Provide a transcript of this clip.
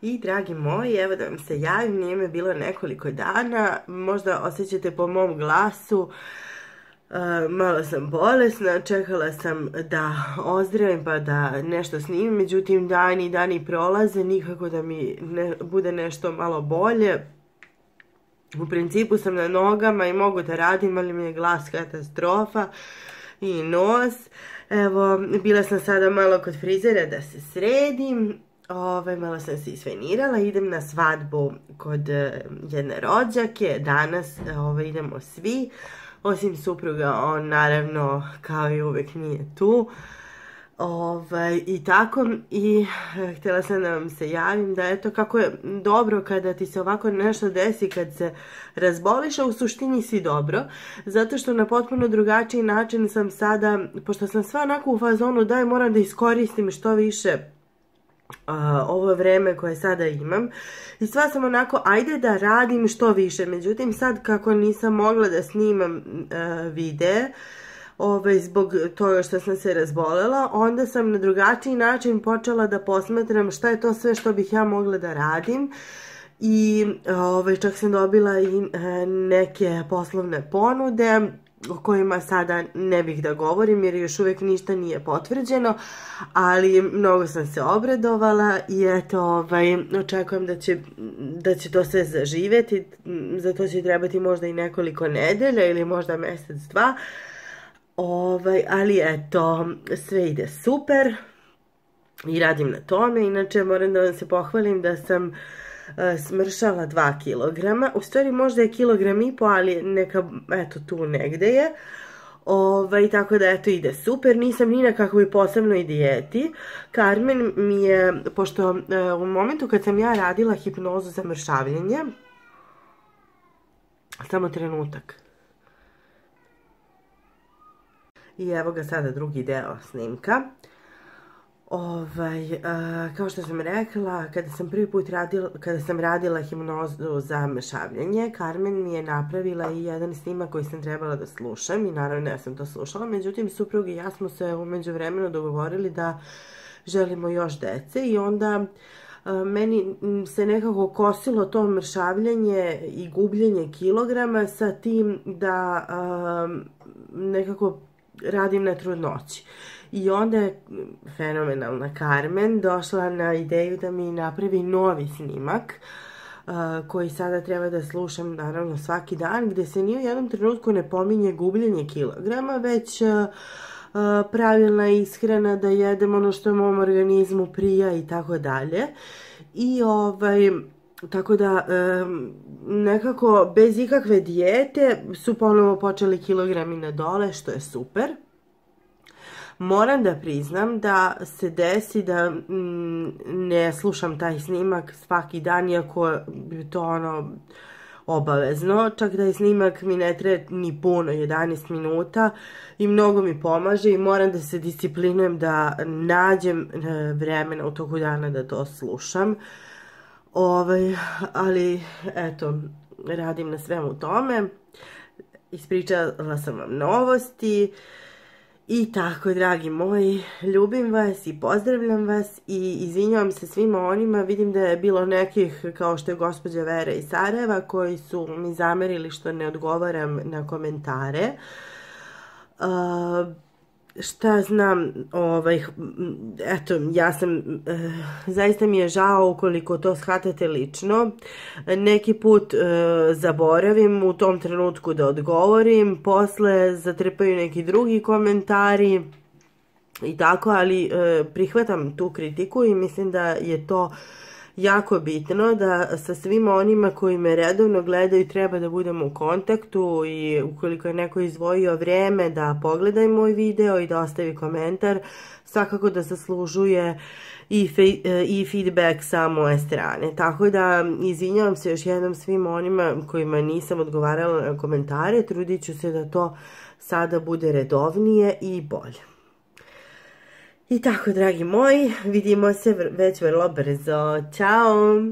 I dragi moji, evo da vam se javim, nije me bilo nekoliko dana, možda osjećate po mom glasu, malo sam bolesna, čekala sam da ozdravim pa da nešto snimim, međutim dani prolaze, nikako da mi bude nešto malo bolje. U principu sam na nogama i mogu da radim, ali mi je glas katastrofa i nos. Evo, bila sam sada malo kod frizera da se sredim. Malo sam se isfenirala, idem na svadbu kod jedne rođake, danas idemo svi, osim supruga, on naravno kao i uvek nije tu. I tako, i htjela sam da vam se javim da eto kako je dobro kada ti se ovako nešto desi, kad se razboliš, a u suštini si dobro, zato što na potpuno drugačiji način sam sada, pošto sam sva onako u fazonu daj moram da iskoristim što više ovo vreme koje sada imam i sva sam onako ajde da radim što više, međutim sad kako nisam mogla da snimam videe zbog toga što sam se razbolela, onda sam na drugačiji način počela da posmatram šta je to sve što bih ja mogla da radim i čak sam dobila i neke poslovne ponude o kojima sada ne bih da govorim jer još uvijek ništa nije potvrđeno, ali mnogo sam se obradovala i eto, očekujem da će to sve zaživjeti, za to će trebati možda i nekoliko nedelja ili možda mjesec, dva, ali eto, sve ide super i radim na tome. Inače moram da vam se pohvalim da sam smršala 2 kilograma, u stvari možda je 1,5 kilograma, ali neka, eto tu negde je, tako da eto ide super, nisam ni na kakvoj posebnoj dijeti. Carmen mi je, pošto u momentu kad sam ja radila hipnozu za mršavljenje, samo trenutak, i evo ga sada drugi deo snimka. Kao što sam rekla, kada sam radila hipnozu za mršavljenje, Carmen mi je napravila i jedan snimak koji sam trebala da slušam i naravno ja sam to slušala, međutim suprug i ja smo se u međuvremenu dogovorili da želimo još dece i onda meni se nekako kosilo to mršavljenje i gubljenje kilograma sa tim da nekako radim na trudnoći. I onda je fenomenalna Carmen došla na ideju da mi napravi novi snimak koji sada treba da slušam naravno svaki dan, gde se ni u jednom trenutku ne pominje gubljenje kilograma, već pravilna ishrana, da jedem ono što mom organizmu prija i tako dalje. I tako da nekako bez ikakve dijete su ponovo počeli kilogrami na dole, što je super. Moram da priznam da se desi da ne slušam taj snimak svaki dan, iako je to obavezno, čak da je snimak mi ne treba ni puno, 11 minuta i mnogo mi pomaže i moram da se disciplinujem da nađem vremena u toku dana da to slušam. Ali eto, radim na svemu tome, ispričala sam vam novosti i tako, dragi moji, ljubim vas i pozdravljam vas i izvinjavam se svima onima, vidim da je bilo nekih, kao što je gospođa Vera iz Sarajeva, koji su mi zamerili što ne odgovaram na komentare. Šta znam, eto, ja sam, zaista mi je žao ukoliko to shvatate lično, neki put zaboravim u tom trenutku da odgovorim, posle zatrpaju neki drugi komentari i tako, ali prihvatam tu kritiku i mislim da je to jako bitno, da sa svima onima koji me redovno gledaju treba da budemo u kontaktu i ukoliko je neko izdvojio vrijeme da pogledaj moj video i da ostavi komentar, svakako da zaslužuje i feedback sa moje strane. Tako da izvinjavam se još jednom svima onima kojima nisam odgovarala na komentare, trudit ću se da to sada bude redovnije i bolje. I tako, dragi moji, vidimo se već vrlo brzo. Ćao!